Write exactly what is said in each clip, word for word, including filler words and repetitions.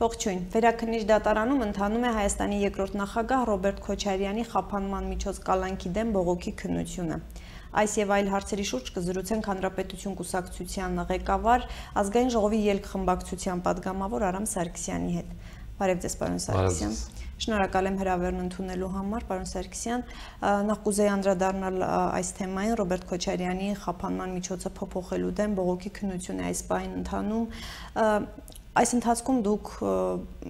Ողջույն, Վերաքննիչ դատարանում ընթանում է Հայաստանի երկրորդ նախագահ Ռոբերտ Քոչարյանի խափանման միջոց կալանքի դեմ բողոքի քննությունը։ Այս եւ այլ հարցերի շուրջ կզրուցենք Հանրապետություն կուսակցության ղեկավար, Ազգային ժողովի ելքխմբակցության падգամավոր Արամ Սարգսյանի հետ։ Բարև ձեզ, պարոն Սարգսյան։ Շնորհակալ եմ հրավերն ընդունելու համար, պարոն Սարգսյան։ Նախ կուզեի անդրադառնալ այս թեմային, Ռոբերտ Քոչարյանի խափանման միջոցը փոփոխելու դեմ բողոքի քննությունը այս պահին ընթանում։ Այս ընթացքում դուք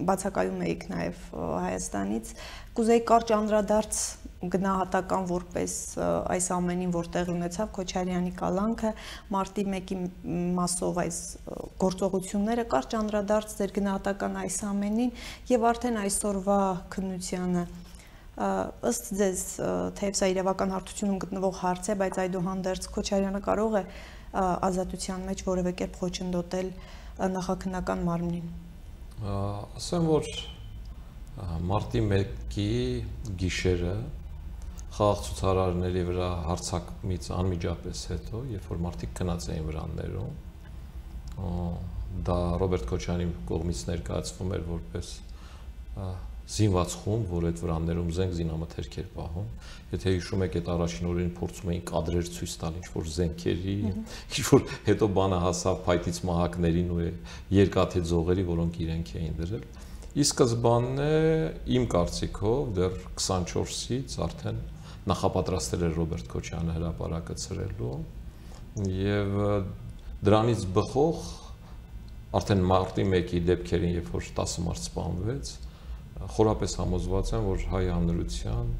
բացակայում եք նաև Հայաստանից, կուզեի կարճ անդրադարձ գնահատական որպես այս ամենին, որ տեղի ունեցավ Քոչարյանի կալանքը, մարտի մեկի մասով այս գործողությունները, կարճ անդրադարձ ձեր գնահատական այս ամենին եւ արդեն այսօրվա քննությանը, ըստ ձեզ, թեև սա իրավական հարթությունում գտնվող հարց է, բայց այդուհանդերձ Քոչարյանը կարող է ազատության մեջ որևէ կերպ խոչընդոտել նախաքննական մարմնին։ Ասեմ, որ մարտի մեկի գիշերը խաղաղ ցուցարարների վրա հարձակումից անմիջապես հետո, երբ որ մարդիկ քնած էին վրաններում, դա Ռոբերտ Քոչարյանի կողմից ներկայացվում էր որպես զինված խումբ, որ այդ վրաններում զենք զինամթերք էր պահում։ Եթե հիշում եք, այդ առաջին օրերին փորձում էին կադրեր ցույց տալ ինչ-որ զենքերի, ինչ-որ հետո բանը հասավ փայտից մահակներին ու երկաթե ձողերի, որոնք իրենք էին դրել։ Ի սկզբանե իմ կարծիքով դեռ քսանչորսից արդեն նախապատրաստել էր Ռոբերտ Քոչարյանը հրապարակը ցրելու եւ դրանից բխող արդեն մարտի մեկի դեպքերին, երբ որ տասը մարդ սպանվեց, խորապես համոզված եմ, որ հայ հանրության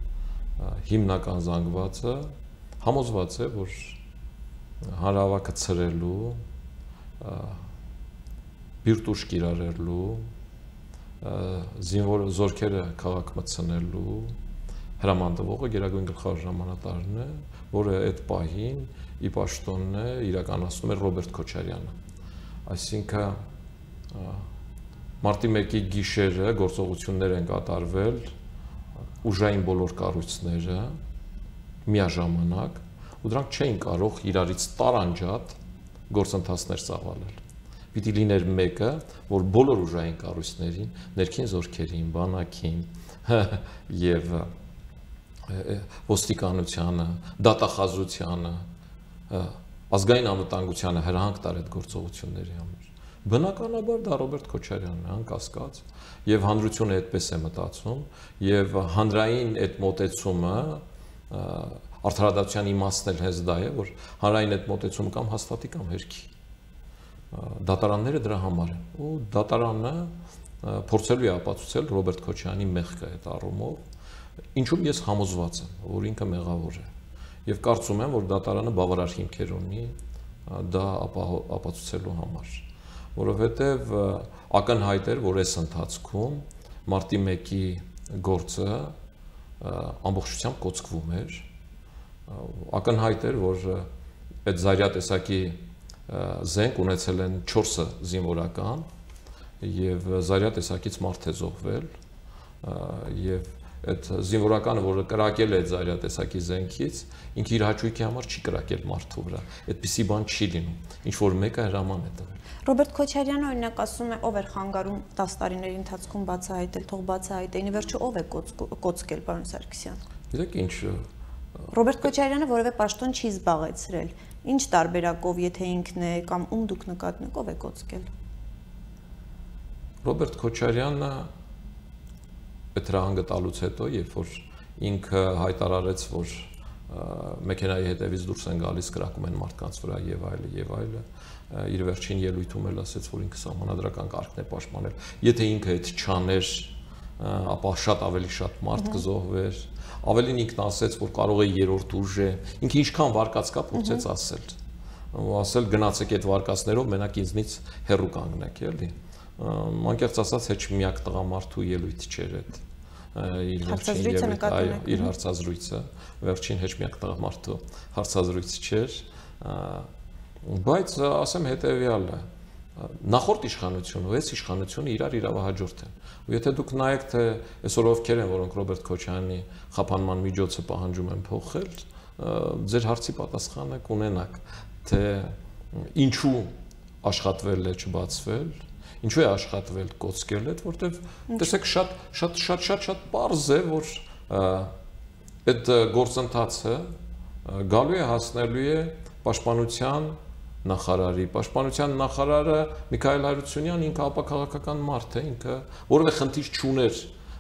հիմնական զանգվածը համոզված է, որ հանրահավաքը ցրելու, բիրտուշ կիրառելու, զինվոր զորքերը քաղաք մտցնելու հրամանտվողը գերագույն գլխավոր հրամանատարն է, որը այդ պահին ի պաշտոնն է իրականացնում էր Ռոբերտ Քոչարյանը։ Այսինքն մարտի մեկի գիշերը գործողություններ են կատարվել ուժային բոլոր կառույցները միաժամանակ, ու դրանք չէին կարող իրարից տարանջատ գործընթացներ ծավալել։ Պիտի լիներ մեկը, որ բոլոր ուժային կառույցներին, ներքին զորքերին, բանակին եւ ոստիկանությանը, դատախազությանը, ազգային անվտանգությանը հրահանգ տար այդ գործողությունների համար։ Բնականաբար դա Ռոբերտ Քոչարյանն է, անկասկած, եւ հանրությունը այդպես է մտածում, եւ հանրային այդ մոտեցումը արդարադատության իմաստն էլ հենց դա է, որ հանրային այդ մոտեցումը կամ հաստատի կամ հերքի։ Դատարանները դրա համար են, ու դատարանը փորձելու է ապացուցել Ռոբերտ Քոչարյանի մեղքը այդ առումով, ինչում ես համոզված եմ, որ ինքը մեղավոր է, եւ կարծում եմ, որ դատարանը բավարար հիմքեր ունի դա ապացուցելու համար, որովհետեւ ակնհայտ էր, որ այս ընթացքում մարտի մեկի գործը ամբողջությամբ կոծկվում էր, ակնհայտ էր, որ այդ զարյա տեսակի զենք ունեցել են չորսը զինվորական եւ զարյա տեսակից մարդ է զոհվել եւ այդ զինվորականը, որը կրակել է այդ զարյա տեսակի զենքից, ինքը իր հաճույքի համար չի կրակել մարդու վրա։ Այդպիսի բան չի լինում, ինչ որ մեկը հրաման է տվել։ Ռոբերտ Քոչարյանը օրինակ ասում է, ով էր խանգարում տասը տարիների ընթացքում բացահայտել, թող բացահայտեին, ի վերջո ով է կոծկել, պարոն Սարգսյան։ Գիտեք ինչ, Ռոբերտ Քոչարյանը որևէ պաշտոն չի զբաղեցրել։ Ինչ տարբերակով, եթե ինքն է կամ ում դուք նկատնեք, ով է կոծկել։ Ռոբերտ Քոչարյանը այդ հրահանգը տալուց հետո, երբ որ ինքը հայտարարեց, որ մեքենայի հետևից դուրս են գալիս, կրակում են մարդկանց վրա եւ այլը եւ այլը, իր վերջին ելույթում էլ ասեց, որ ինքը սահմանադրական կարգն է պաշտպանել։ Եթե ինքը այդ չաներ, ապա շատ ավելի շատ մարդ կզոհվեր։ Ավելին ինքն ասեց, որ կարող է երրորդ ուժ է, ինքը ինչքան վարկած կա փորձեց ասել, ու ասել գնացեք այդ վարկածներով մենակ ինձնից հեռու կանգնեք, էլի։ Անկեղծ ասած, հեչ միակ տղամարդու ելույթ չէր այդ իր վերջին ելույթը, այո, իր հարցազրույցը, վերջին հեչ միակ տղամարդու հարցազրույցը չէր, բայց ասեմ հետեւյալը, նախորդ իշխանությունը ու այս իշխանությունը իրար իրավահաջորդ են։ Ու եթե դուք նայեք, թե այսօր ովքեր են, որոնք Ռոբերտ Քոչարյանի խափանման միջոցը պահանջում են փոխել, ձեր հարցի պատասխանը կունենաք, թե ինչու աշխատվել է չբացվել, Ինչու է աշխատվել կոծկել այդ, որտեվ տեսեք շատ շատ շատ շատ շատ པարզ է, որ այդ գործընթացը գալու է հասնելու է պաշտպանության նախարարի, պաշտպանության նախարարը Միքայել Հարությունյան ինքը ապաքաղաքական մարդ է, ինքը որևէ խնդիր չուներ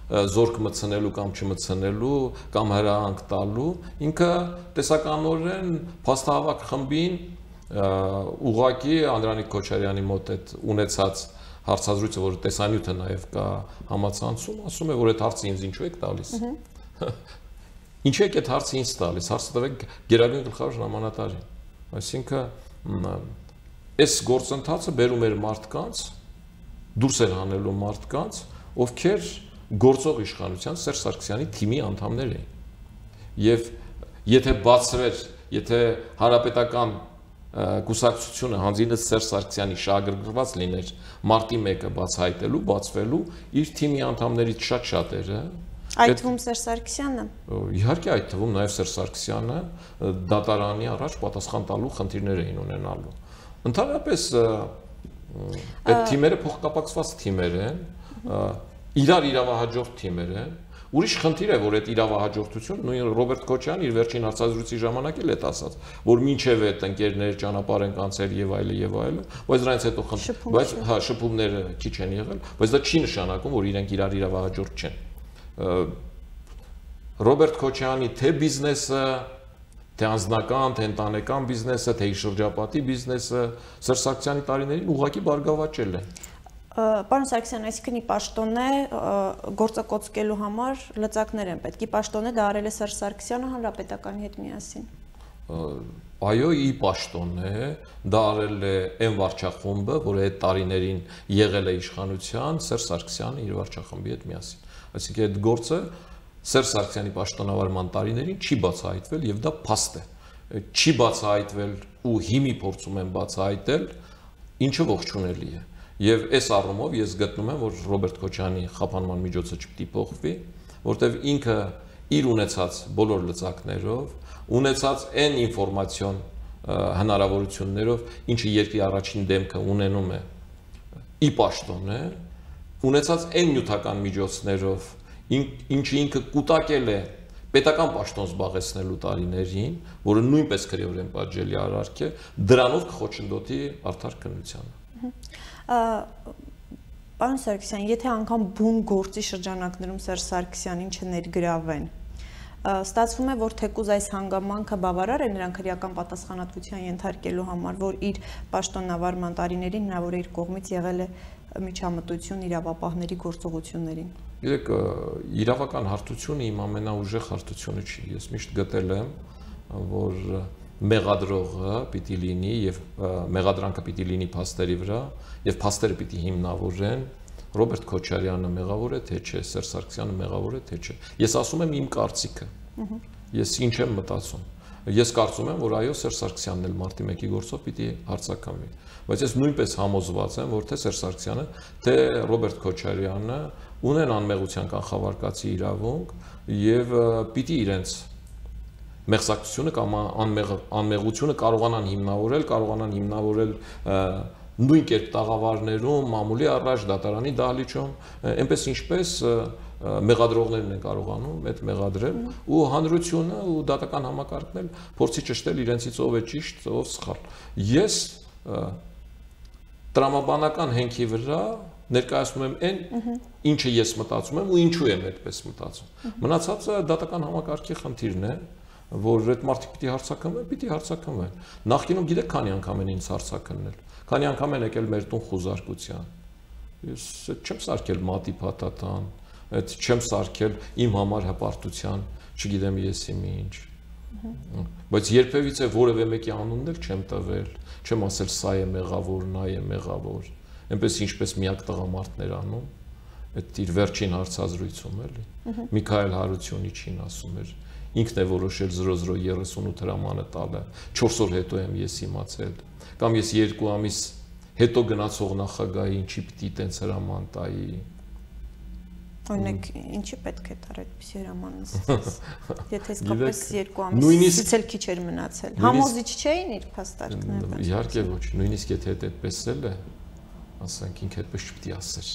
զորք մտցնելու կամ չմտցնելու կամ հրահանգ տալու, ինքը տեսականորեն փաստահավաք խմբին ուղղակի Անդրանիկ Քոչարյանի մոտ այդ ունեցած հարցազրույցը, որ տեսանյութը նաև կա համացանցում, ասում է, որ այդ հարցը ինձ ինչու եք տալիս։ Ինչու եք այդ հարցը ինձ տալիս, հարցը տվեք Գերագույն գլխավոր հրամանատարին։ Այսինքն այս գործընթացը բերում էր մարդկանց, դուրս էր հանելու մարդկանց, ովքեր գործող իշխանության Սերժ Սարգսյանի թիմի անդամներ էին։ Եվ եթե բացվեր, եթե հանրապետական կուսակցությունը հանձինս Սերժ Սարգսյանի շահագրգռված լիներ մարտի մեկը բացահայտելու, բացվելու, իր թիմի անդամներից շատ շատերը, այդ թվում Սերժ Սարգսյանը։ Իհարկե այդ թվում նաև Սերժ Սարգսյանը դատարանի առաջ պատասխան տալու խնդիրներ էին ունենալու։ Ընդհանրապես այդ թիմերը փոխկապակցված թիմեր են, իրար իրավահաջորդ թիմեր են։ Ուրիշ խնդիր է, որ այդ իրավահաջորդությունը նույն Ռոբերտ Քոչարյանն իր վերջին հարցազրույցի ժամանակ էլ է ասած, որ մինչև այդ ընկերներ ճանապարհ են կանցել եւ այլը եւ այլը, բայց դրանից հետո խնդիր, բայց հա շփումները քիչ են եղել, բայց դա չի նշանակում, որ իրենք իրար իրավահաջորդ չեն։ Ռոբերտ Քոչարյանի թե բիզնեսը, թե անձնական, թե ընտանեկան բիզնեսը, թե իր շրջապատի բիզնեսը Սերժ Սարգսյանի տարիներին ուղղակի բարգավաճել է։ Պարոն Սարգսյան, այսինքն ի պաշտոնե գործը կոծկելու համար լծակներ են պետք։ Ի պաշտոնե դա արել է Սերժ Սարգսյանը հանրապետականի հետ միասին։ Այո, ի պաշտոնե դա արել է այն վարչախումբը, որը այդ տարիներին եղել է իշխանության, Սերժ Սարգսյանը իր վարչախմբի հետ միասին։ Այսինքն այդ գործը Սերժ Սարգսյանի պաշտոնավարման տարիներին չի բացահայտվել եւ դա փաստ է։ Չի բացահայտվել ու հիմի փորձում են բացահայտել, ինչը ողջունելի է։ Եվ այս առումով ես գտնում եմ, որ Ռոբերտ Քոչարյանի խափանման միջոցը չպետք է փոխվի, որտեվ ինքը իր ունեցած բոլոր լծակներով, ունեցած այն ինֆորմացիոն հնարավորություններով, ինչը երկրի առաջին դեմքը ունենում է ի պաշտոնե, ունեցած այն նյութական միջոցներով, ինչը ինքը կուտակել է պետական պաշտոն զբաղեցնելու տարիներին, որը նույնպես քրեորեն պատժելի արարք է, դրանով կխոչընդոտի արդար քննությանը։ Պարոն Սարգսյան, եթե անգամ բուն գործի շրջանակներում Սերժ Սարգսյանին չներգրավեն, ստացվում է, որ թեկուզ այս հանգամանքը բավարար է նրան քրեական պատասխանատվության ենթարկելու համար, որ իր պաշտոնավարման տարիներին հնարավոր է իր կողմից եղել է միջամտություն իրավապահների գործողություններին։ Գիտեք, իրավական հարթությունը իմ ամենաուժեղ հարթությունը չի։ Ես միշտ գտել եմ, որ մեղադրողը պիտի լինի եւ մեղադրանքը պիտի լինի փաստերի վրա եւ փաստերը պիտի հիմնավորեն Ռոբերտ Քոչարյանը մեղավոր է թե չէ, Սերժ Սարգսյանը մեղավոր է թե չէ։ Ես ասում եմ իմ կարծիքը։ Ես ինչ եմ մտածում։ Ես կարծում եմ, որ այո, Սերժ Սարգսյանն էլ մարտի մեկի գործով պիտի հարձակվի։ Բայց ես նույնպես համոզված եմ, որ թե Սերժ Սարգսյանը, թե Ռոբերտ Քոչարյանը ունեն անմեղության կանխավարկածի իրավունք եւ պիտի իրենց մեղսակցությունը կամ անմեղ, անմեղությունը կարողանան հիմնավորել, կարողանան հիմնավորել նույն կերպ տաղավարներում, մամուլի առաջ, դատարանի դահլիճում, այնպես ինչպես մեղադրողներն են կարողանում այդ մեղադրել ու հանրությունը ու դատական համակարգն էլ փորձի ճշտել իրենցից ով է ճիշտ, ով սխալ։ Ես տրամաբանական հենքի վրա ներկայացնում եմ այն, ինչը ես մտածում եմ ու ինչու եմ այդպես մտածում։ Մնացածը դատական համակարգի խնդիրն է, որ այդ մարդիկ պիտի հարցակնվեն, պիտի հարցակնվեն։ Նախկինում գիտեք քանի անգամ են ինձ հարցակնել, քանի անգամ են եկել մեր տուն խուզարկության։ Ես չեմ սարքել մատի փաթաթան, այդ չեմ սարքել իմ համար հպարտության, չգիտեմ ես իմի ինչ։ Բայց երբևիցե որևէ մեկի անունն էլ չեմ տվել, չեմ ասել սա է մեղավոր, նա է մեղավոր։ Այնպես ինչպես միակ տղամարդներ անում, այդ իր վերջին հարցազրույցում էլի։ Միքայել Հարությունիչին ասում էր, ինքն է որոշել զրո զրո երեսունութ հրամանը տալը, չորս օր հետո եմ ես իմացել, կամ ես երկու ամիս հետո գնացող նախագահի ինչի պիտի տենց հրաման տայի։ Օրինակ, ինչի պետք է տար այդպիսի հրաման, եթե իսկապես երկու ամիսից էլ քիչ էր մնացել։ Համոզիչ չէին իր փաստարկները։ Իհարկե ոչ, նույնիսկ եթե այդպես էլ է, ասենք ինքը այդպես չպիտի ասեր։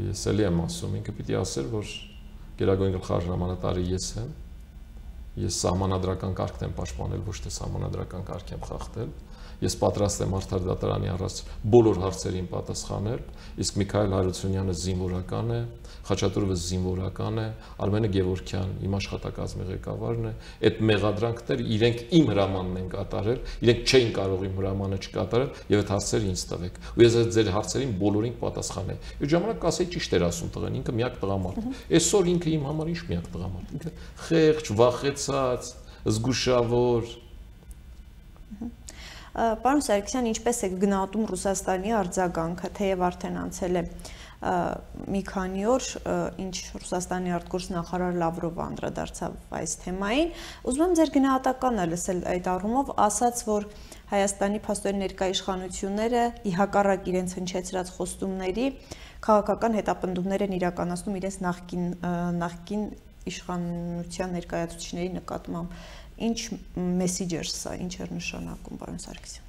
Ես էլի եմ ասում, ինքը պիտի ասեր, որ գերագույն գլխավոր հրամանատարը ես եմ, ես սահմանադրական կարգն եմ պաշտպանել, ոչ թե սահմանադրական կարգ եմ խախտել։ Ես պատրաստ եմ Արդար դատարանի առած բոլոր հարցերին պատասխանել, իսկ Միքայել Հարությունյանը զինվորական է, Խաչատուրովը զինվորական է, Արմենը Գևորգյան իմ աշխատակազմի ղեկավարն է, այդ մեղադրանքները իրենք իմ հրամանն են կատարել, իրենք չէին կարող իմ հրամանը չկատարել եւ այդ հարցերը ինձ տվեք։ Ու ես ձեր հարցերին բոլորին պատասխանեի։ Այդ ժամանակ ասեի ճիշտ էր ասում տղեն, ինքը միակ տղամարդ։ Այսօր ինքը իմ համար ինչ միակ տղամարդ։ Ինքը խեղճ, վախեցած, զգուշավոր։ Պարոն Սարգսյան, ինչպես է գնահատում Ռուսաստանի արձագանքը, թեև արդեն անցել է մի քանի օր, ինչ Ռուսաստանի արտգործնախարար Լավրովը անդրադարձավ այս թեմային, ուզում եմ ձեր գնահատականը լսել այդ առումով, ասաց, որ Հայաստանի փաստորեն ներկայ իշխանությունները ի հակառակ իրենց հնչեցրած խոստումների քաղաքական հետապնդումներ են իրականացնում իրենց նախկին նախկին իշխանության ներկայացուցիչների նկատմամբ։ Ինչ մեսիջ էր սա, ինչ էր նշանակում, պարոն Սարգսյան։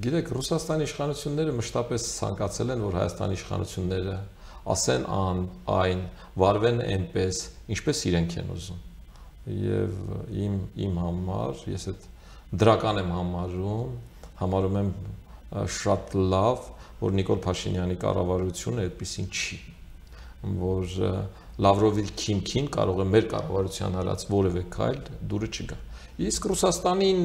Գիտեք, Ռուսաստանի իշխանությունները մշտապես ցանկացել են, որ Հայաստանի իշխանությունները ասեն ան, այն, վարվեն այնպես, ինչպես իրենք են ուզում։ Եվ իմ իմ համար, ես այդ դրական եմ համարում, համարում եմ շատ լավ, որ Նիկոլ Փաշինյանի կառավարությունը այդպեսին չի, որ Լավրովի քիմքին կարող է մեր կառավարության հարած որևէ քայլ դուրը չգա։ Իսկ Ռուսաստանին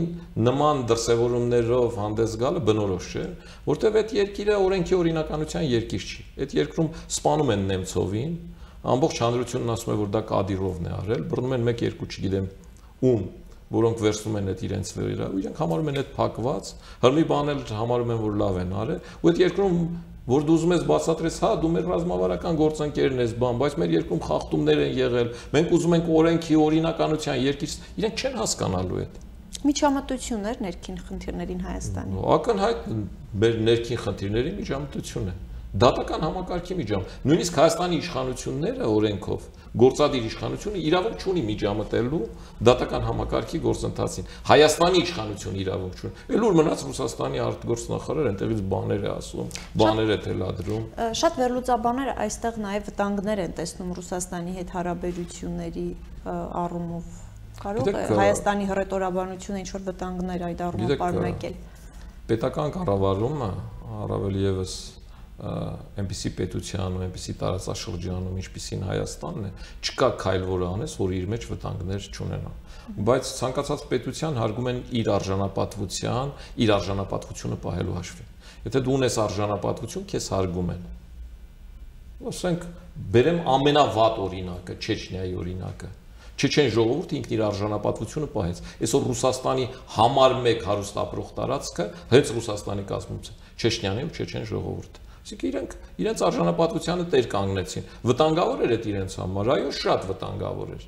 նման դրսևորումներով հանդես գալը բնորոշ չէ, որտեղ այդ երկիրը օրենքի օրինականության երկիր չի։ Այդ երկրում սպանում են Նեմցովին, ամբողջ հանրությունն ասում է, որ դա Կադիրովն է արել, բռնում են մեկ երկու չգիտեմ ում, որոնք վերցնում են այդ իրենց վրա, ու իրենք համարում են այդ փակված, հրմի բանել համարում են, որ լավ են արել, ու այդ երկրում որ դու ուզում ես բացատրես, հա, դու մեր ռազմավարական գործընկերն ես, բան, բայց մեր երկրում խախտումներ են եղել, մենք ուզում ենք օրենքի օրինականության երկիր, իրենք չեն հասկանալու այդ։ Միջամտություններ ներքին խնդիրներին Հայաստանի։ Ակնհայտ մեր ներքին խնդիրների միջամտություն է։ Դատական համակարգի միջամ, նույնիսկ Հայաստանի իշխանությունները օրենքով գործադիր իշխանությունը իրավունք չունի միջամտելու դատական համակարգի գործընթացին։ Հայաստանի իշխանությունը իրավունք չունի։ Էլ ուր մնաց Ռուսաստանի արտգործնախարարը այնտեղից բաներ է ասում, բաներ է թելադրում։ Շատ վերլուծաբաններ այստեղ նաև վտանգներ են տեսնում Ռուսաստանի հետ հարաբերությունների առումով։ Կարող է Հայաստանի հռետորաբանությունը ինչ-որ վտանգներ այդ առումով պարունակել։ Պետական կառավարումը առավել եւս այնպիսի պետության ու այնպիսի տարածաշրջանում, ինչպիսին Հայաստանն է, չկա քայլ, որը անես, որ իր մեջ վտանգներ չունենա։ Բայց ցանկացած պետության հարգում են իր արժանապատվության, իր արժանապատվությունը պահելու հաշվին։ Եթե դու ունես արժանապատվություն, քեզ հարգում են։ Ասենք, բերեմ ամենավատ օրինակը, Չեչնիայի օրինակը։ Չեչեն ժողովուրդը ինքն իր արժանապատվությունը պահեց։ Այսօր Ռուսաստանի համար մեկ հարուստ ապրող տարածքը հենց Ռուսաստանի կազմումից է, Չեչնիան ու Չեչեն ժողովուրդը։ Իսկ իրենք իրենց արժանապատվությանը տեր կանգնեցին։ Վտանգավոր էր այդ իրենց համար, այո, շատ վտանգավոր էր։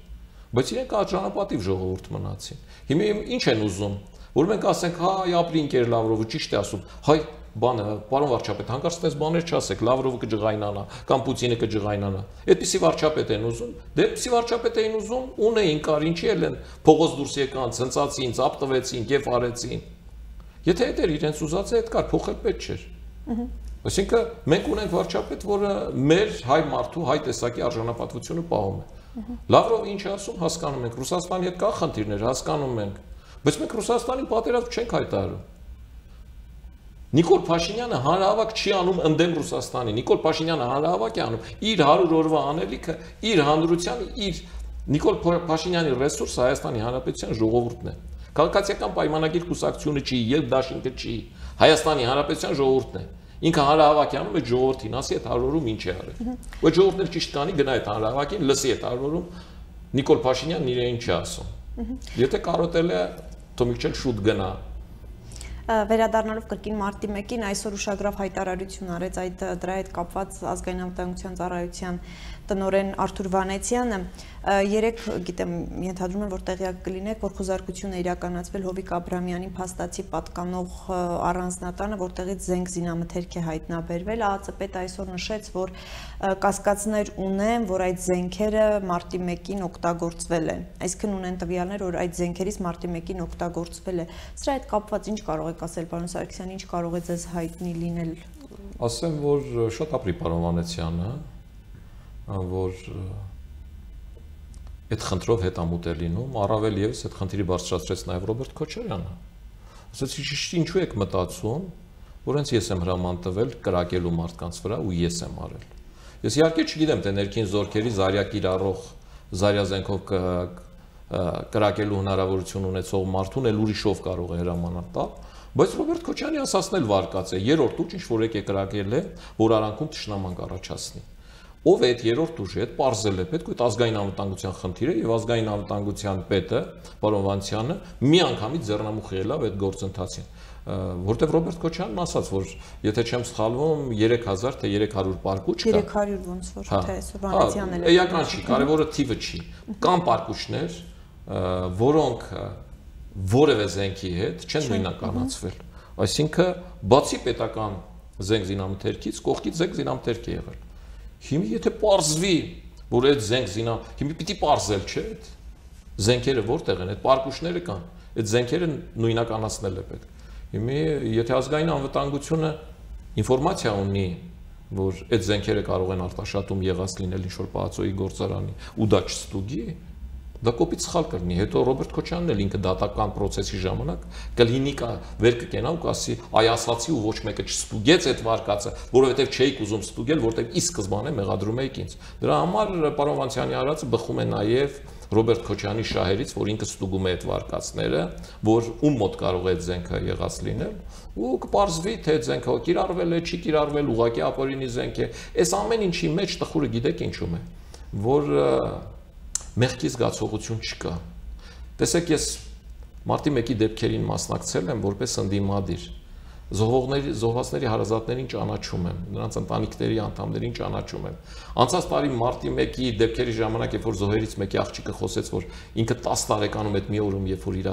Բայց իրենք արժանապատիվ ժողովուրդ մնացին։ Հիմա ինչ են ուզում, որ մենք ասենք, հա, ապրի ընկեր Լավրովը, ճիշտ է ասում, հայ, բանը, պարոն վարչապետ, հանկարծ այդպես բաներ չասեք, Լավրովը կջղայնանա, կամ Պուտինը կջղայնանա։ Այդպիսի վարչապետ են ուզում, դե այդպիսի վարչապետ էին ուզում, ունեին կար, ինչի էլ են փողոց դուրս եկան, ցնծացին, ծափ տվեցին, կեֆ արեցին։ Եթե այդ էր իրենց ուզածը, այդ կար, փոխել պետք չէր։ Այսինքն մենք ունենք վարչապետ, որը մեր հայ մարդու, հայ տեսակի արժանապատվությունը պահում է։ Լավրովը ինչ ասում, հասկանում ենք, Ռուսաստանի հետ կա խնդիրներ, հասկանում ենք, բայց մենք Ռուսաստանին պատերազմ չենք հայտարարում։ Նիկոլ Փաշինյանը հանրահավաք չի անում ընդդեմ Ռուսաստանի։ Նիկոլ Փաշինյանը հանրահավաք է անում իր հարյուր օրվա անելիքը, իր հանրությանը, իր Նիկոլ Փաշինյանի ռեսուրսը Հայաստանի Հանրապետության ժողովուրդն է։ Քաղաքացիական պայմանագիր կուսակցությունը չի, երբ դաշինքը չի, Հայաստանի Հանրապետության ժողովուրդն է։ Ինքը հանրահավաք է անում այդ ժողովրդին, ասի այդ հարյուրում ինչ է արել։ Ու այդ ժողովուրդն ճիշտ կանի, գնա այդ հանրահավաքին, լսի այդ հարյուրում Նիկոլ Փաշինյանն իրեն ինչ է ասում։ Եթե կարոտել է, թող մի քիչ շուտ գնա։ Վերադառնալով կրկին մարտի մեկին այսօր ուշագրավ հայտարարություն արեց այդ դրա հետ կապված ազգային անվտանգության ծառայության տնօրեն Արթուր Վանեցյանը, երեք գիտեմ, ենթադրում եմ, որ տեղյակ կլինեք, որ խոզարկություն է իրականացվել Հովիկ Աբրամյանի փաստացի պատկանող առանձնատանը, որտեղից զենք զինամթերք է հայտնաբերվել, ԱԱԾ-պետը այսօր նշեց, որ կասկածներ ունեն, որ այդ զենքերը մարտի մեկին օգտագործվել են, այսինքն ունեն տվյալներ, որ այդ զենքերից մարտի մեկին օգտագործվել է։ Սրա հետ կապված ինչ կարող եք ասել, պարոն Սարգսյան, ինչ կարող է ձեզ հայտնի լինել։ Ասեմ, որ շատ ապրի պարոն Վանեցյանը, որ այդ խնդրով հետամուտ է լինում, առավել եւս այդ խնդիրի բարձրացրեց նաեւ Ռոբերտ Քոչարյանը։ Ասացի, ինչու եք մտածում, որ հենց ես եմ հրաման տվել կրակելու մարդկանց վրա ու ես եմ արել։ Ես իհարկե չգիտեմ, թե ներքին զորքերի զարյա կիրառող զարյա զենքով կրակելու հնարավորություն ունեցող մարդուն էլ ուրիշով կարող է հրամանալ տալ, բայց Ռոբերտ Քոչյանի ասածն էլ վարկած է, երրորդ ուժ ինչ որ եկե կրակել է, որ արանքում թշնաման կառաջացնի։ Ով է այդ երրորդ ուժը, այդ պարզել է, պետք է այդ ազգային անվտանգության խնդիրը եւ ազգային անվտանգության պետը, պարոն Վանցյանը, միանգամից ձեռնամուխ ելավ այդ գործընթացին, որտեղ Ռոբերտ Քոչյանն ասաց, որ եթե չեմ սխալվում, երեք հազար թե երեք հարյուր պարկուճ կա։ երեք հարյուր ոնց որ թե Վանեցյանն էլ։ Էական չի, կարևորը թիվը չի։ Կան պարկուճներ, որոնք որևէ զենքի հետ չեն նույնականացվել։ Այսինքն, բացի պետական զենք զինամթերքից, կողքից զենք զինամթերք է եղել։ Հիմա եթե պարզվի, որ այդ զենք զինա, հիմա պիտի պարզել, չէ՞, այդ զենքերը որտեղ են, այդ պարկուճները կան, այդ զենքերը նույնականացնել է պետք։ Հիմա եթե ազգային անվտանգությունը ինֆորմացիա ունի, որ այդ զենքերը կարող են արտաշատում եղած լինել ինչ-որ պահածոյի գործարանի ու դա չստուգի, դա կոպիտ սխալ կլինի։ Հետո Ռոբերտ Քոչյանն էլ ինքը դատական process-ի ժամանակ կլինի կա վեր կկենա ու կասի, այ ասացի ու ոչ մեկը չստուգեց այդ վարկածը, որովհետև չէիք ուզում ստուգել, որտեղ ի սկզբանե մեղադրում էիք ինձ։ Դրա համար պարոն Վանցյանի արածը բխում է նաև Ռոբերտ Քոչյանի շահերից, որ ինքը ստուգում է այդ վարկածները, որ ում մոտ կարող է այդ զենքը եղած լինել, ու կպարզվի, թե այդ զենքը կիրառվել է, չի կիրառվել, ուղղակի ապօրինի զենք է։ Այս ամեն ինչի մեջ տխուրը գիտեք ինչու՞մ է, որ մեղքի զգացողություն չկա։ Տեսեք, ես մարտի մեկի դեպքերին մասնակցել եմ որպես ընդդիմադիր։ Զոհողների, զոհվածների հարազատներին ճանաչում եմ, նրանց ընտանիքների անդամներին ճանաչում եմ։ Անցած տարի մարտի մեկի դեպքերի ժամանակ, երբ որ զոհերից մեկի աղջիկը խոսեց, որ ինքը տասը տարեկանում այդ մի օրում, երբ որ իր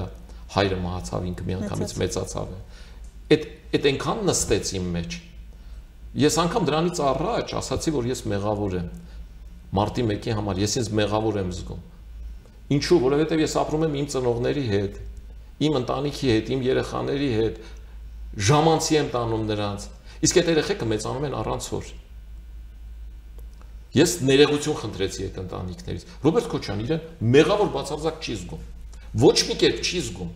հայրը մահացավ, ինքը միանգամից մեծացավ է։ Այդ այդ այնքան նստեց իմ մեջ։ Ես անգամ դրանից առաջ ասացի, որ ես մեղավոր եմ։ Մարտի մեկի համար ես ինձ մեղավոր եմ զգում։ Ինչու, որովհետև ես ապրում եմ իմ ծնողների հետ, իմ ընտանիքի հետ, իմ երեխաների հետ, ժամանցի եմ տանում նրանց։ Իսկ այդ երեխեքը մեծանում են առանց հոր։ Ես ներողություն խնդրեցի այդ ընտանիքներից։ Ռոբերտ Քոչյան իրեն մեղավոր բացարձակ չի զգում։ Ոչ մի կերպ չի զգում։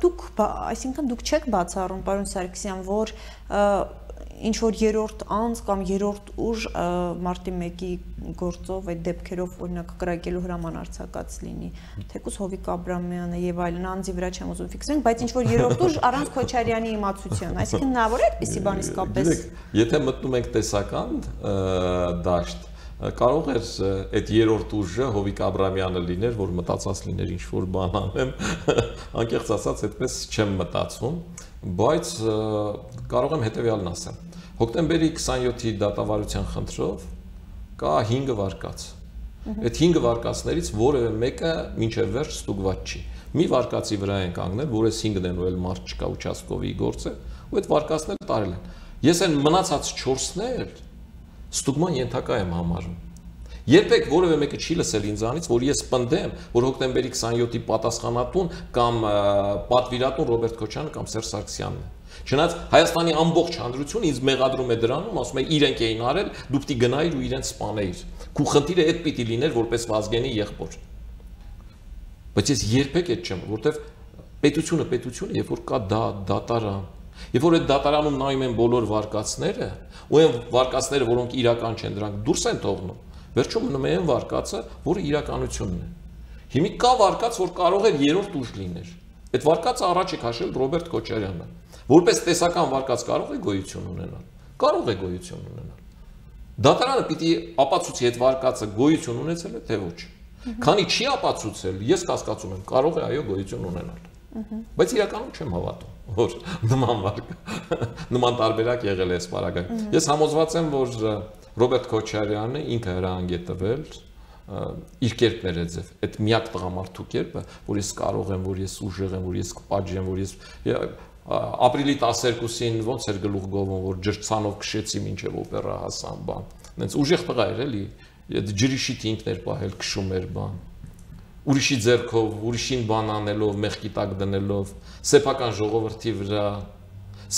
Դուք, այսինքն դուք չեք բացառում, պարոն Սարգսյան, որ ինչ որ երրորդ անձ կամ երրորդ ուժ մարտի մեկի գործով այդ դեպքերով օրինակ կրակելու հրաման արձակած լինի, թեկուզ Հովիկ Աբրամյանը եւ այլն անձի վրա չեմ ուզում ֆիքսենք, բայց ինչ որ երրորդ ուժ առանց Քոչարյանի իմացության, այսինքն հնարավոր է այդպիսի բան իսկապես։ Եթե մտնում ենք տեսական դաշտ, կարող էր այդ երրորդ ուժը Հովիկ Աբրամյանը լիներ, որ մտածած լիներ ինչ որ բան անեմ, անկեղծ ասած այդպես չեմ մտածում, բայց կարող եմ հետեւյալն ասեմ։ Հոկտեմբերի քսաներկուի դատավարության խնդրով կա հինգ վարկած։ Այդ հինգ վարկածներից որևէ մեկը մինչև վերջ ստուգված չի։ Մի վարկածի վրա են կանգնել, որ այս հինգն են ու էլ մարդ չկա участковի գործը, ու այդ վարկածները տարել են։ Ես այն մնացած չորսն էլ ստուգման ենթակա եմ համարում։ Երբեք որևէ մեկը չի լսել ինձանից, որ ես պնդեմ, որ հոկտեմբերի քսաներկուի պատասխանատուն կամ պատվիրատուն Ռոբերտ Քոչյանը կամ Սերժ Սարգսյանն է։ Չնայած Հայաստանի ամբողջ հանրությունը ինձ մեղադրում է դրանում, ասում է իրենք էին արել, դու պիտի գնայիր ու իրենց սպանեիր։ Քու խնդիրը այդ պիտի լիներ որպես Վազգենի եղբոր։ Բայց ես երբեք այդ չեմ, որովհետև պետությունը պետությունը, երբ որ կա դա դատարան, երբ որ այդ դատարանում նայում են բոլոր վարկածները, ու այն վարկածները, որոնք իրական չեն, դրանք դուրս են թողնում, վերջում մնում է այն վարկածը, որը իրականությունն է։ Հիմա կա վարկած, որ կարող է երրորդ ուժ լիներ։ Այդ վարկածը առաջ է քաշել Ռոբերտ Քոչարյանը։ Որպես տեսական վարկած կարող է գոյություն ունենալ։ Կարող է գոյություն ունենալ։ Դատարանը պիտի ապացուցի այդ վարկածը գոյություն ունեցել է թե ոչ։ Քանի չի ապացուցել, ես կասկածում եմ, կարող է այո գոյություն ունենալ։ Բայց իրականում չեմ հավատում, որ նման վարկա, նման տարբերակ եղել է այս պարագայում։ Ես համոզված եմ, որ Ռոբերտ Քոչարյանը ինքը հրահանգ է տվել իր կերպն է ձև, այդ միակ տղամարդու կերպը, որ ես կարող եմ, որ ես ուժեղ եմ, որ ես կպատժեմ, որ ես ապրիլի տասներկուսին ոնց էր գլուխ գովում, որ ջրցանով քշեցի մինչև օպերա հասան բան։ Նենց ուժեղ տղա էր էլի, ջրի շիթ ինքն էր պահել, քշում էր բան։ Ուրիշի ձեռքով, ուրիշին բան անելով, մեղքի տակ դնելով, սեփական ժողովրդի վրա,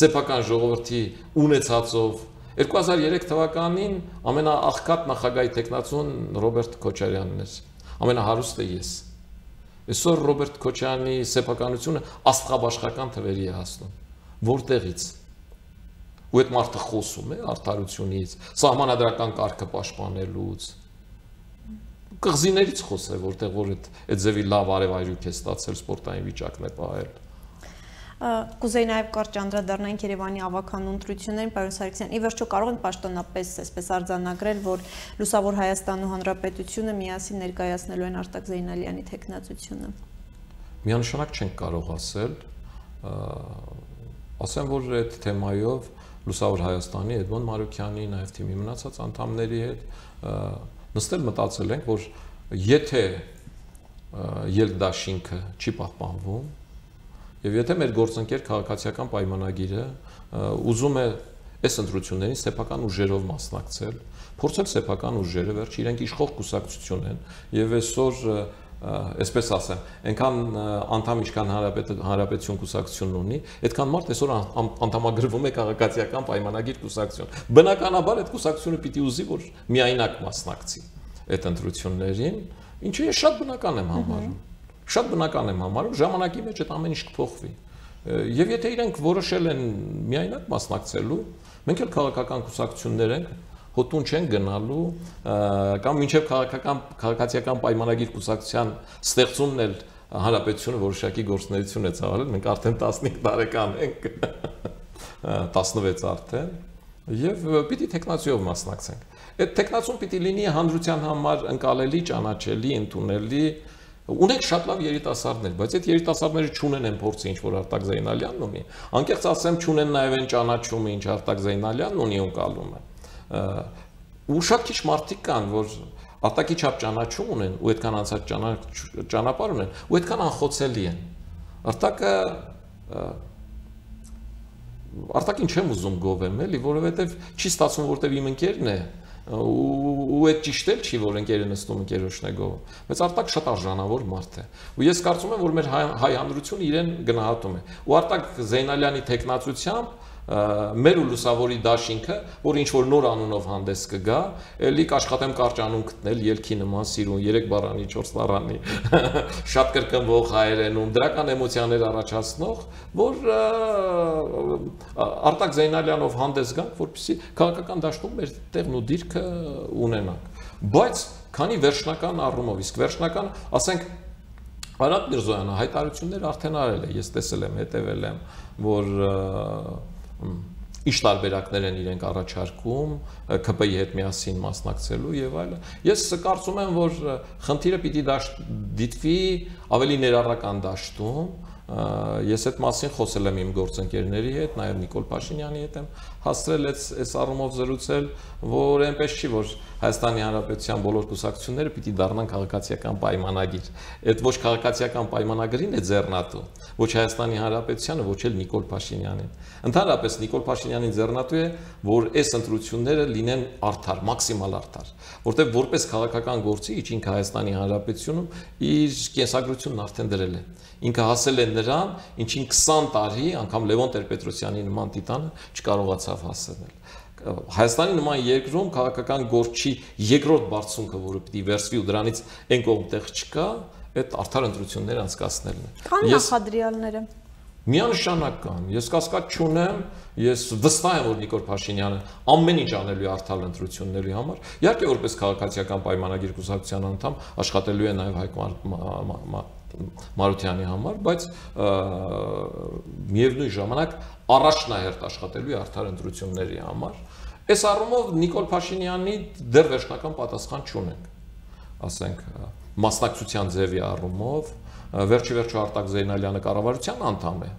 սեփական ժողովրդի ունեցածով երկու հազար երեք թվականին ամենաաղքատ նախագահի տեխնացուն Ռոբերտ Քոչարյանն էր, ամենահարուստը ես։ Այսօր Ռոբերտ Քոչարյանի սեփականությունը աստղաբաշխական թվերի է հասնում։ Որտեղից։ Ու այդ մարդը խոսում է արդարությունից, սահմանադրական կարգը պաշտպանելուց։ Կղզիներից խոսե, որտեղ որ այդ այդ ձևի լավ արևայրուք է ստացել, սպորտային վիճակն է պահել։ Կուզեի նաև կարճ անդրադառնանք Երևանի ավականու ընտրություններին, պարոն Սարգսյան, ի վերջո կարող են պաշտոնապես այսպես արձանագրել, որ Լուսավոր Հայաստան ու Հանրապետությունը միասին ներկայացնելու են Արտակ Զեյնալյանի թեկնածությունը։ Միանշանակ չենք կարող ասել, ասեմ, որ այդ թեմայով Լուսավոր Հայաստանի Էդմոն Մարուկյանի, նաև թիմի մնացած անդամների հետ նստել մտածել ենք, որ եթե ելքդաշինքը չի պահպանվում, եւ եթե մեր գործընկեր քաղաքացիական պայմանագիրը ուզում է այս ընտրություններին սեփական ուժերով մասնակցել, փորձել սեփական ուժերը, վերջ իրենք իշխող կուսակցություն են եւ այսօր այսպես ասեմ, այնքան անդամ ինչքան հանրապետություն կուսակցությունն ունի, այդքան մարդ այսօր անդամագրվում է քաղաքացիական պայմանագիր կուսակցություն։ Բնականաբար այդ կուսակցությունը պիտի ուզի, որ միայնակ մասնակցի այդ ընտրություններին, ինչը ես շատ բնական եմ համարում։ Շատ բնական եմ համարում, ժամանակի մեջ այդ ամեն ինչ կփոխվի։ Եվ եթե իրենք որոշել են միայնակ մասնակցելու, մենք էլ քաղաքական կուսակցություններ ենք, հոտուն չեն գնալու, կամ մինչև քաղաքական քաղաքացիական պայմանագիր կուսակցության ստեղծումն էլ հանրապետությունը որոշակի գործունեություն է ծավալել, մենք արդեն տասնհինգ տարեկան ենք, տասնվեց արդեն, եւ պիտի տեխնացիով մասնակցենք։ Այդ տեխնացիան պիտի լինի հանրության համար ընկալելի, ճանաչելի, ընդունելի։ Ունենք շատ լավ երիտասարդներ, բայց այդ երիտասարդները չունեն են փորձը, ինչ որ Արտակ Զեյնալյանն ունի։ Անկեղծ ասեմ, չունեն նաև այն ճանաչումը, ինչ Արտակ Զեյնալյանն ունի ընկալումը։ Ու շատ քիչ մարդիկ կան, որ Արտակի չափ ճանաչում ունեն, ու այդքան անցած ճանապարհ ունեն, ու այդքան անխոցելի են։ Արտակը Արտակին չեմ ուզում գովեմ, էլի, որովհետև չի ստացվում, որտեվ իմ ընկերն է, ու այդ ճիշտ էլ չի, որ ընկերը նստում ընկերոջն է գովում, բայց Արտակ շատ արժանավոր մարդ է, ու ես կարծում եմ, որ մեր հայ հանրությունը իրեն գնահատում է, ու Արտակ Զեյնալյանի թեկնածությամբ մեր ու Լուսավորի դաշինքը, որ ինչ որ նոր անունով հանդես կգա, էլի կաշխատեմ կարճ անուն գտնել, ելքի նման սիրուն, երեք բառանի, չորս բառանի, շատ կրկնվող հայերենում, դրական էմոցիաներ առաջացնող, որ Արտակ Զեյնալյանով հանդես գանք, որպեսզի քաղաքական դաշտում մեր տեղն ու դիրքը ունենանք։ Բայց քանի վերջնական առումով, իսկ վերջնական, ասենք, Արադ Միրզոյանը հայտարարություններ արդեն արել է, ես տեսել եմ, հետևել եմ, որ ինչ տարբերակներ են իրենք առաջարկում K P I-ի հետ միասին մասնակցելու եւ այլը։ Ես կարծում եմ, որ խնդիրը պիտի դիտվի ավելի ներառական դաշտում։ Ես այդ մասին խոսել եմ իմ գործընկերների հետ, նաև Նիկոլ Փաշինյանի հետ եմ հասցրել այս առումով զրուցել, որ այնպես չի, որ Հայաստանի Հանրապետության բոլոր կուսակցությունները պիտի դառնան քաղաքացիական պայմանագիր։ Այդ ոչ քաղաքացիական պայմանագրին է ձեռնատու, ոչ Հայաստանի Հանրապետությանը, ոչ էլ Նիկոլ Փաշինյանին։ Ընդհանրապես Նիկոլ Փաշինյանին ձեռնատու է, որ այս ընտրությունները լինեն արդար, մաքսիմալ արդար, որտեղ որպես քաղաքական գործիչ ինքը Հայաստանի Հանրապետությունում իր կենսագրությունն արդեն դրել է։ Ինքը հասել է նրան, ինչին քսան տարի, անգամ Լևոն Տեր-Պետրոսյանի նման տիտանը չկարողացավ հասնել։ Հայաստանի նման երկրում քաղաքական գործի երկրորդ բարձունքը, որը պիտի վերցվի ու դրանից այն կողմ տեղ չկա, այդ արդար ընտրություններ անցկացնելն է։ Քան նախադրյալները։ Միանշանակ կան։ Ես կասկած չունեմ, ես վստահ եմ, որ Նիկոլ Փաշինյանը ամեն ինչ անելու է արդար ընտրությունների համար։ Իհարկե, որպես քաղաքացիական պայմանագիր կուսակցության անդամ աշխատելու է նաև Հայկ Մարությանի համար, բայց միևնույն ժամանակ առաջնահերթ աշխատելու է արդար ընտրությունների համար։ Այս առումով Նիկոլ Փաշինյանի դեռ վերջնական պատասխան չունենք, ասենք, մասնակցության ձևի առումով, վերջի վերջո Արտակ Զեյնալյանը կառավարության անդամ է,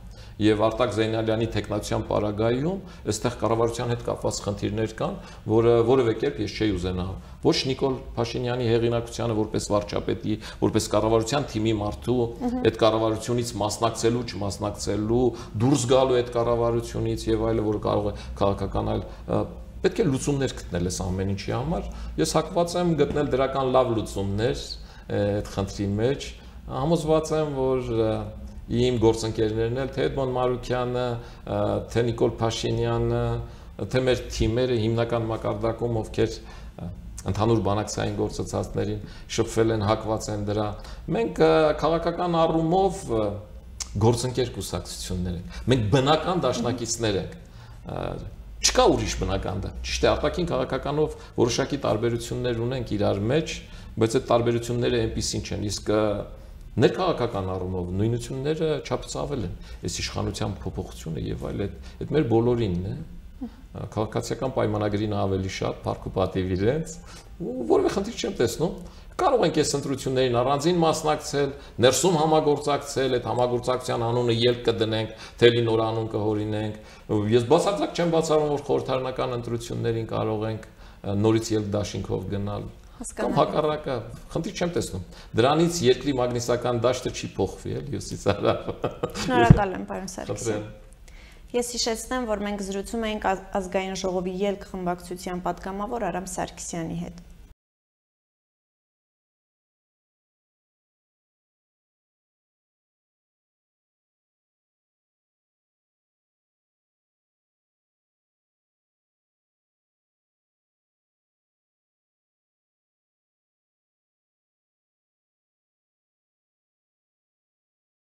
եւ Արտակ Զեյնալյանի տեխնացիան պարագայում այստեղ կառավարության հետ կապված խնդիրներ կան, որը որևէ կերպ ես չէի ուզենա ոչ Նիկոլ Փաշինյանի հեղինակությանը որպես վարչապետի, որպես կառավարության թիմի մարդու, այդ կառավարությունից մասնակցելու, չմասնակցելու, դուրս գալու այդ կառավարությունից եւ այլը, որը կարող է քաղաքականալ, պետք է լուծումներ գտնել այս ամեն ինչի համար։ Ես հակված եմ գտնել դրական լավ լուծումներ այդ խնդրի մեջ, համոզված եմ, որ իմ գործընկերներն էլ, թե Էդմոն Մարուկյանը, թե Նիկոլ Փաշինյանը, թե մեր թիմերը հիմնական մակարդակում, ովքեր ընդհանուր բանակցային գործընթացներին շփվել են, հակված են դրա։ Մենք քաղաքական առումով գործընկեր կուսակցություններ ենք։ Մենք բնական դաշնակիցներ ենք։ Չկա ուրիշ բնական դա։ Ճիշտ է, արտաքին քաղաքականով որոշակի տարբերություններ ունենք իրար մեջ, բայց այդ տարբերությունները այնպիսին չեն, իսկ ներքաղաքական առումով նույնությունները չափից ավել են։ Այս իշխանության փոփոխությունը եւ այլ այդ մեր բոլորինն է։ Քաղաքացիական պայմանագրին ավելի շատ փառք ու պատիվ իրենց, որևէ խնդիր չեմ տեսնում։ Կարող ենք այս ընտրություններին առանձին մասնակցել, ներսում համագործակցել, այդ համագործակցության անունը ելք կդնենք, թելի նոր անուն կհորինենք։ Ես բացարձակ չեմ բացառում, որ խորհրդարանական ընտրություններին կարող ենք նորից ելք դաշինքով գնալ։ Կամ հակառակը, խնդիր չեմ տեսնում։ Դրանից երկրի մագնիսական դաշտը չի փոխվի, էլի հյուսիս հարավ։ Շնորհակալ եմ, պարոն Սարգսյան։ Ես հիշեցնեմ, որ մենք զրուցում էինք ազգային ժողովի ելք խմբակցության պատգամավոր Արամ Սարգսյանի հետ։